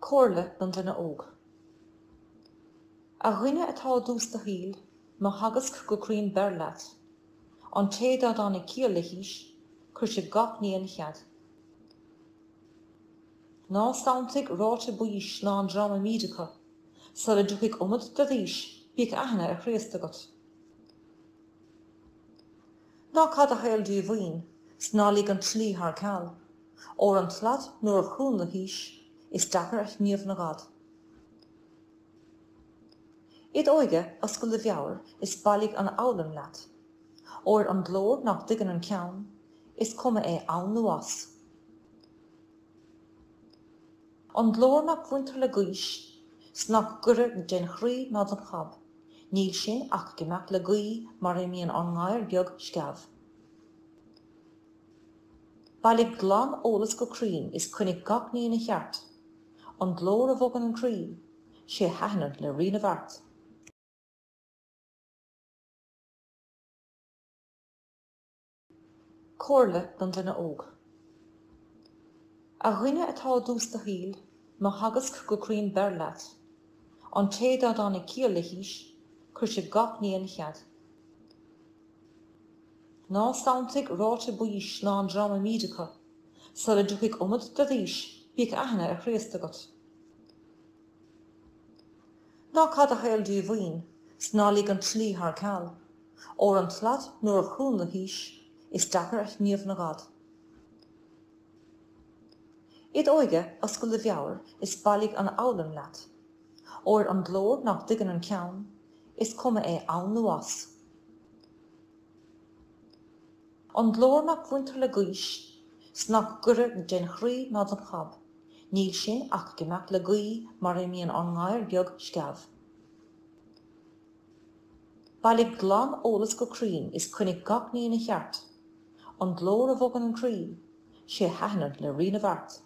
Comhairle don duine óg. A dhuine atá i dtús do shaoil, mo theagasc go cruinn beir leat. An té dá dtáinig ciall le haois, chuir sé gach ní ina chead. Ná santaigh ráite baois ná an dream a mbíd acu. Sula dtiocfaidh iomad de d'aois, bíodh aithne ar Chríost agat. Ná caith do shaol díomhaoin, 's ná lig an tslí thar ceal, óir an tslat nuair a chuann le haois, is deacair a shníomh 'na ghad. Id óige oscail do mheabhair is bailigh an fhoghlaim leat, óir an glór nach dtuigeann an ceann, is cuma é ann nó as. An glór nach bhaintear le gaois, 's nach gaire den chroí ná don chab, níl sin ach ag imeacht le gaoth mar a imíonn an gadhar beag sceamh. Bailigh glan-eolas go cruinn is coinnigh gach ní ina cheart, an glór a bhogann an croí, 'sé a thaitneann le Rí na bhFeart. Comhairle don duine óg. A dhuine atá i dtús do shaoil, mo theagasc go cruinn beir leat. An té dá dtáinig ciall le haois, chuir sé gach ní ina chead. Ná santaigh ráite baois ná an dream a mbíd acu. Sula dtiocfaidh iomad de d'aois, bíodh aithne ar Chríost agat. Ná caith do shaol díomhaoin, 's ná lig an tslí thar ceal, óir an tslat nuair a chuann le haois, is deacair a shníomh 'na ghad. Id óige oscail do mheabhair is bailigh an fhoghlaim leat, óir an glór nach dtuigeann an ceann, is cuma é ann nó as. An glór nach bhaintear le gaois, 's nach gaire den chroí ná don chab, níl sin ach ag imeacht le gaoth mar a imíonn an gadhar beag sceamh. Bailigh glan-eolas go cruinn is coinnigh gach ní ina cheart, an glór a bhogann an croí, 'sé a thaitneann le Rí na bhFeart.